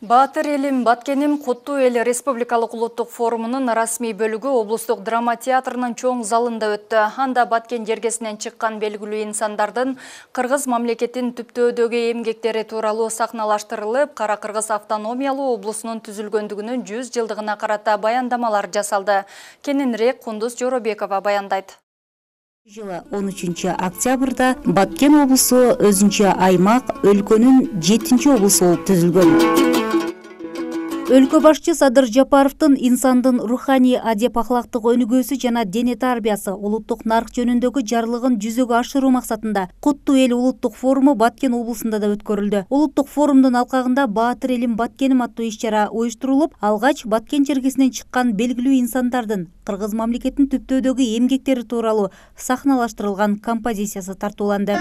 Баатыр элим, Баткеним, Куттуу эл республикалык улуттук форумунун расмий бөлүгү облустук драма театрынын чоң залында өттү. Анда Баткен жергесинен чыккан белгилүү инсандардын кыргыз мамлекетин түптөөдөгү эмгектери тууралуу сахналаштырылып, Кара Кыргыз автономиялуу облусунун түзүлгөндүгүнүн 100 жылдыгына карата баяндамалар жасалды. Кененирээк Кундуз Жоробекова баяндайт. Жылы 13 октябрда Баткен облусу өзүнчө аймак, өлкөнүн 7-чи облусу болуп түзүлгөн. Өлкө башчы Садыр Жапаровдун инсандын руханий адеп ахлактык өнүгүүсү жана дене тарбиясы улуттук нарк жөнүндөгү жарлыгын жүзөгө ашыруу максатында Куттуу эл улуттук форуму Баткен облусунда да өткөрүлдү. Улуттук форумдун алкагында Баатыр элим, Баткеним аттуу иш-чара уюштурулуп, алгач Баткен жергесинен чыккан белгилүү инсандардын кыргыз мамлекетин түптөөдөгү эмгектери тууралуу сахналаштырылган композициясы тартууланды.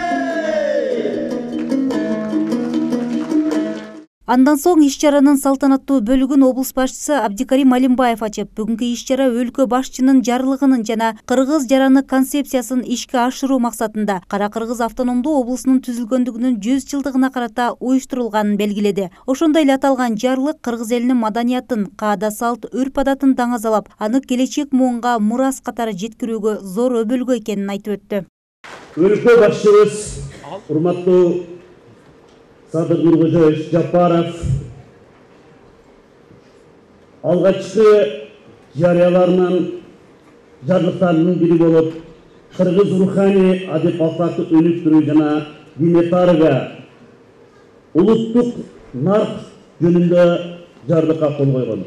Андан соң иш-чаранын салтанаттуу бөлүгүн облус башчысы Абдикарим Алимбаев ачып, бүгүнкү иш-чара өлкө башчынын жарлыгынын жана кыргыз жараны концепциясын ишке ашыруу максатында Кара Кыргыз автономдуу облусунун түзүлгөндүгүнүн 100 жылдыгына карата уюштурулганын белгиледи. Ошондой эле аталган жарлык кыргыз элинин маданиятын, каада салт, үрп-адатын даңазалап, аны келечек муунга мурас катары жеткирүүгө зор өбөлгө экенин айтып өттү. Өлкө башчыбыз урматтуу Садыр Нуркожоевич Жапаров алгачкы жарыяларынын жарлыктарынын бири болуп, кыргыз руханий адеп ахлакты өнүктүрүү жана дене тарбия, улуттук нарк жөнүндө жарлыкка кол койгон.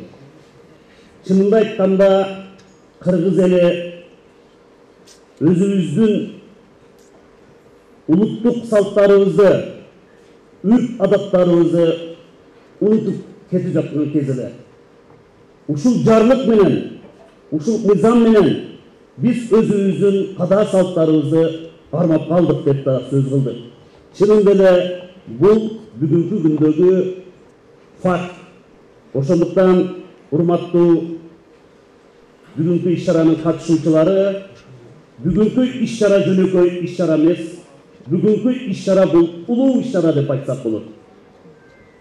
Чынында айтканда, кыргыз эли өзүбүздүн улуттук салттарыбызды, үрп-адаттарыбызды унутуп кетип жаткан кезде ушул жарлык менен, ушул мыйзам менен биз өзүбүздүн када салттарыбызды кармап калдык деп да сөз кылдык. Чынында эле бул бүгүнкү күндөгү факт. Ошондуктан урматтуу бүгүнкү иш-чаранын катышуучулары, бүгүнкү иш-чара жөнөкөй иш-чара эмес, бүгүнкү иш-чара бул улуу иш-чара деп айтсак болот.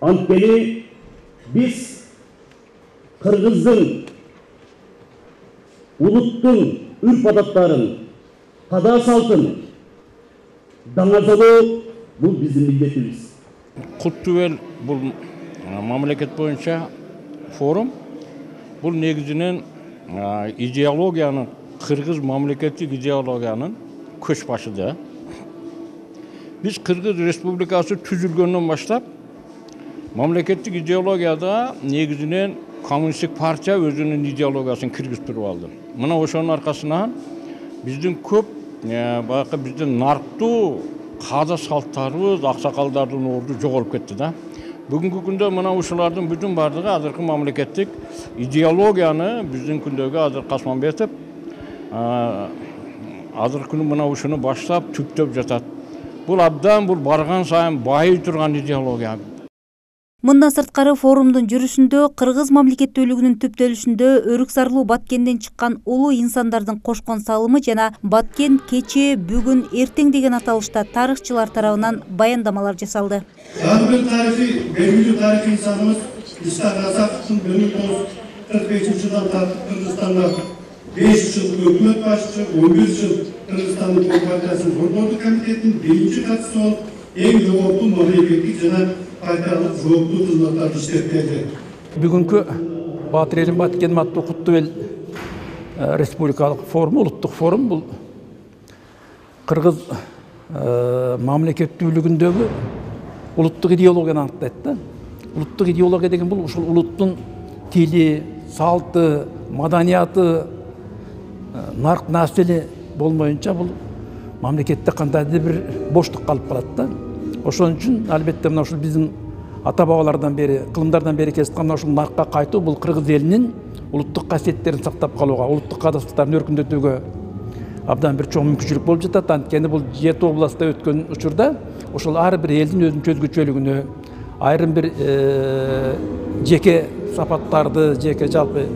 Анткени биз кыргыздын, улуттун үрп-адаттарын, када салтын даңазалоо бул биздин милдетибиз. Куттуу эл бул мамлекет боюнча форум. Бул негизинен идеологиянын, кыргыз мамлекеттик идеологиянын көч башы да. Biz Kırgız Respublikası түзүлгөндөн баштап мамлекеттик идеологияда негизинен коммунисттик партия өзүнүн идеологиясын киргизип туруп алды. Мына ошонун аркасынан биздин көп баягы биздин нарктуу каада салттарыбыз, аксакалдардын орду жоголуп кетти да. Бүгүнкү күндө мына ушулардын бүтүн бардыгы азыркы мамлекеттик идеологияны биздин күндөгү азыр Касманбетов азыркы күнү мына ушуну баштап түптөп жатат. Бул абдан бул барган сайын байый турган идеология. Мындан сырткары форумдун жүрүшүндө кыргыз мамлекеттүүлүгүнүн түптөлүшүндө өрүк зарлуу Баткенден чыккан улуу инсандардын кошкон салымы жана Баткен кечээ, бүгүн, эртең деген аталышта тарыхчылар тарабынан баяндамалар жасалды. Ар бир белгилүү тарыхый инсаныбыз Исхак Расаковдун 1945-жылдан тартып Кыргызстанда 5 жыл өкмөт башчы, 11 жыл Кыргызстандын партиясынын борбордук комитетинин биринчи катчысы болуп, эң жогорку мамлекеттик жана партиялык жооптуу кызматтарды иштеп келди. Бүгүнкү Баатыр элим, Баткеним аттуу Куттуу эл республикалык форум, улуттук форум бул кыргыз мамлекеттүүлүгүндөгү улуттук идеологияны аныктайт да. Улуттук идеология деген бул ушул улуттун тили, салты, маданияты, нарк насили болмоюнча бул мамлекетте кандайдыр бир боштук калып калат да. Ошон үчүн албетте мына ушул биздин ата бабалардан бери, кылымдардан бери келаткан мына ушул наркка кайтуу бул кыргыз элинин улуттук касиеттерин сактап калууга, улуттук каадаттарын өркүндөтүүгө абдан бир чоң мүмкүнчүлүк болуп жатат. Анткени бул 7 областта өткөн учурда ошол ар бир элдин өзүнчө өзгөчөлүгүнө, айрым бир жеке сапаттарды, жеке жалпы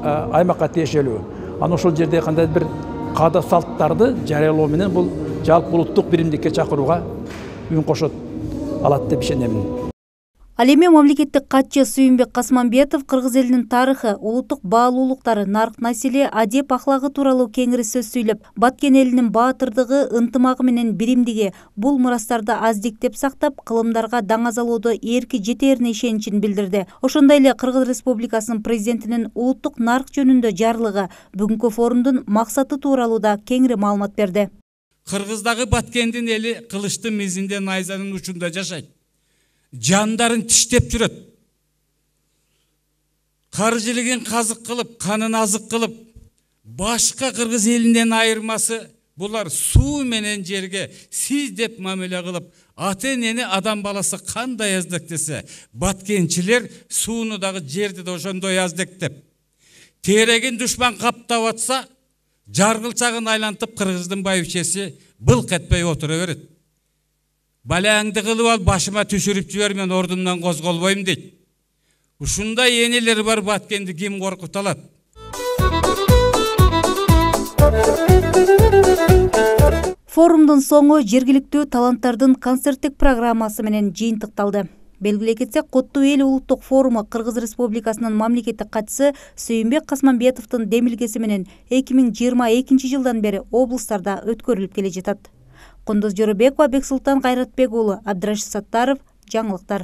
аймакка тиешелүү. Аны ошол жерде кандайдыр бир каада салттарды жарыялоо менен бул жалпы улуттук биримдикке чакырууга үн кошот алат деп ишенемин. Ал эми мамлекеттик катчы Сүйүнбек Касманбетов кыргыз элинин тарыхы, улуттук баалуулуктары, нарк населе, адеп ахлагы тууралуу кеңири сөз сүйлөп, Баткен элинин баатырдыгы, ынтымагы менен биримдиги бул мурастарды аздиктеп сактап, кылымдарга даңазалоодо эрки жетээрине ишеничин билдирди. Ошондой эле Кыргыз Республикасынын президентинин улуттук нарк жөнүндө жарлыгы бүгүнкү форумдун максаты тууралуу да кеңири маалымат берди. Кыргыздагы Баткендин эли кылычтын мизинде найзанын учунда жашайт. Жандарын тиштеп жүрөт. Каржылыгын казык кылып, канын азык кылып, башка кыргыз элинен айырмасы булар суу менен жерге сиз деп мамиле кылып, ата-энени адам баласы кандай аздектесе, баткенчилер сууну дагы жерди да ошондой аздектеп. Терегин душман каптап атса, жаргылчагын айлантып кыргыздын байбичеси былк этпей отура берет. Балаңды кылып ал, башыма түшүрүп жибер, мен ордумдан козголбойм дейт. Ушундай энелер бар, Баткенди ким коркута алат? Форумдун соңу жергиликтүү таланттардын концерттик программасы менен жыйынтыкталды. Белгилей кетсек, Коттуу эл улуттук форуму Кыргыз Республикасынын мамлекеттик катчысы Сүйүнбек Касманбетовдун демилгеси менен 2022 жылдан бери облустарда өткөрүлүп келе жатат. Кундуз Жорубекова, Бексултан Кайратбек уулу, Абдрашид Саттаров, жаңылыктар.